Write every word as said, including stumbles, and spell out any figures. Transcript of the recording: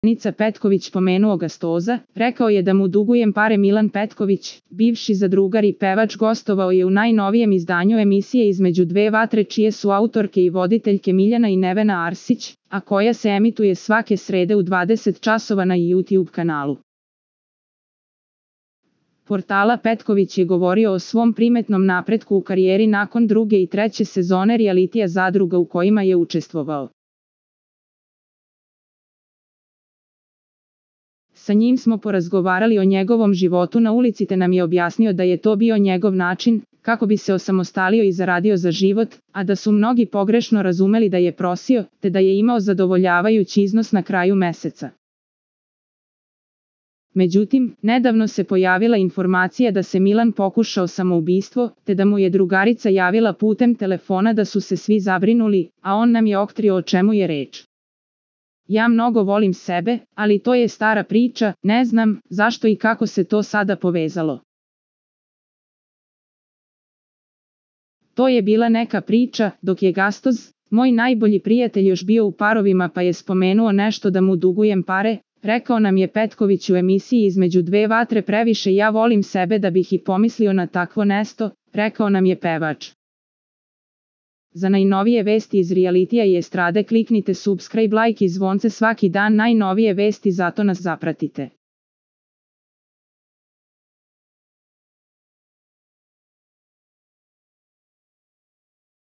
Nica Petković pomenuo Gastoza, rekao je da mu dugujem pare. Milan Petković, bivši zadrugar i pevač, gostovao je u najnovijem izdanju emisije Između dve vatre, čije su autorke i voditeljke Miljana i Nevena Arsić, a koja se emituje svake srede u dvadeset časova na YouTube kanalu portala. Petković je govorio o svom primetnom napretku u karijeri nakon druge i treće sezone realitija Zadruga u kojima je učestvovao. Sa njim smo porazgovarali o njegovom životu na ulici, te nam je objasnio da je to bio njegov način kako bi se osamostalio i zaradio za život, a da su mnogi pogrešno razumeli da je prosio, te da je imao zadovoljavajući iznos na kraju meseca. Međutim, nedavno se pojavila informacija da se Milan pokušao samoubistvo, te da mu je drugarica javila putem telefona da su se svi zabrinuli, a on nam je otkrio o čemu je reč. Ja mnogo volim sebe, ali to je stara priča, ne znam zašto i kako se to sada povezalo. To je bila neka priča, dok je Gastoz, moj najbolji prijatelj, još bio u parovima, pa je spomenuo nešto da mu dugujem pare, rekao nam je Petković u emisiji Između dve vatre. Previše ja volim sebe da bih i pomislio na takvo nesto, rekao nam je pevač. Za najnovije vesti iz realitija i estrade kliknite subscribe, like i zvonce svaki dan. Najnovije vesti, zato nas zapratite.